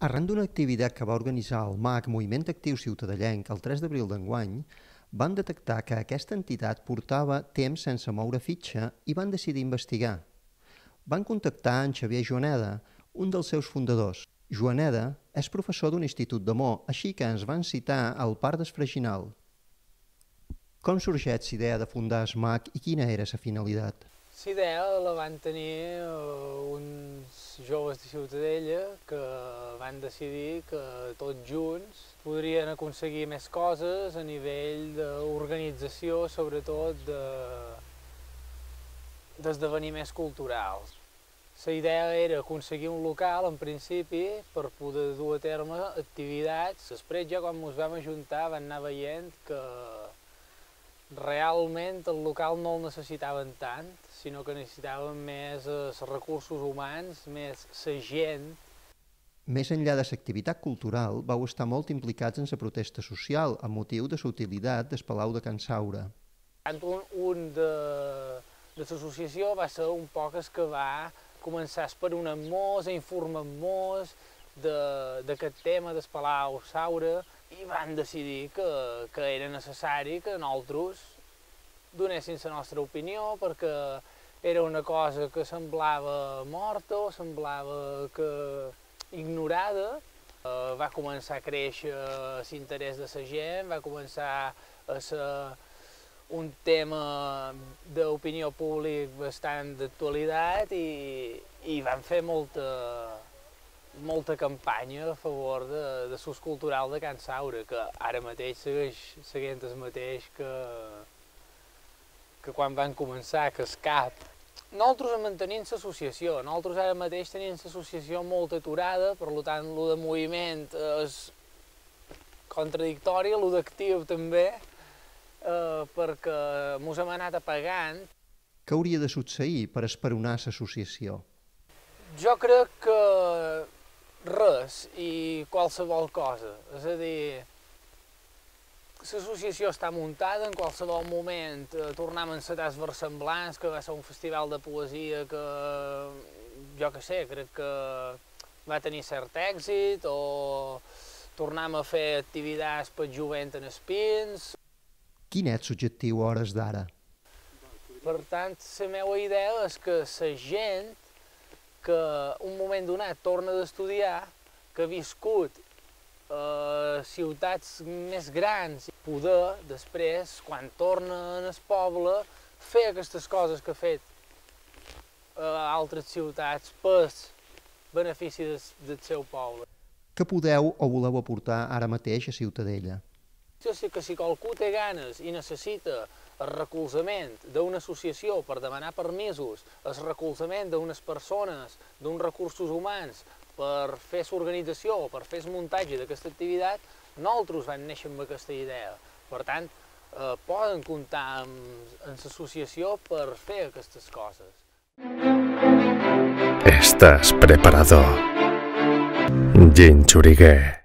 Arran d'una activitat que va organitzar el MAC, Moviment Actiu Ciutadellenc, el 3 d'abril d'enguany, van detectar que aquesta entitat portava temps sense moure fitxa i van decidir investigar. Van contactar en Xavier Joaneda, un dels seus fundadors. Joaneda és professor d'un institut d'Amor, així que ens van citar al Parc d'Esfraginal. Com sorgeix l'idea de fundar el MAC i quina era la finalitat? La idea la van tenir uns joves de Ciutadella que van decidir que tots junts podrien aconseguir més coses a nivell d'organització, sobretot d'esdeveniments culturals. La idea era aconseguir un local, en principi, per poder dur a terme activitats. Després, ja quan ens vam ajuntar, vam anar veient que realment el local no el necessitaven tant, sinó que necessitaven més els recursos humans, més la gent. Més enllà de l'activitat cultural, vau estar molt implicats en la protesta social, amb motiu de la utilitat del Palau de Can Saura. Un de l'associació va ser un poc el que va començar a esperonar-nos, a informar-nos d'aquest tema del Palau Saura, i van decidir que era necessari que nosaltres donéssim la nostra opinió, perquè era una cosa que semblava morta o semblava ignorada. Va començar a créixer l'interès de la gent, va començar a ser un tema d'opinió pública bastant d'actualitat i van fer molta campanya a favor de l'ús cultural de Can Saura, que ara mateix segueix seguint el mateix que quan van començar, que és CAP. Nosaltres mantenim l'associació, nosaltres ara mateix tenim l'associació molt aturada, per tant, el de moviment és contradictori, el d'actiu també, perquè ens hem anat apagant. Què hauria de succeir per esperonar l'associació? Jo crec que res i qualsevol cosa, és a dir, l'associació està muntada, en qualsevol moment tornem a encetar els Versemblants, que va ser un festival de poesia que, jo què sé, crec que va tenir cert èxit, o tornem a fer activitats per jovent en espins. Quin és l'objectiu a hores d'ara? Per tant, la meva idea és que la gent que un moment donat torna d'estudiar, que ha viscut ciutats més grans, poder després, quan torna al poble, fer aquestes coses que ha fet a altres ciutats per benefici del seu poble. Què podeu o voleu aportar ara mateix a Ciutadella? Jo sé que si qualcú té ganes i necessita el recolzament d'una associació per demanar permisos, el recolzament d'unes persones, d'uns recursos humans, per fer l'organització o per fer el muntatge d'aquesta activitat, nosaltres vam néixer amb aquesta idea. Per tant, poden comptar amb l'associació per fer aquestes coses. Estás preparado? Jin Churigué.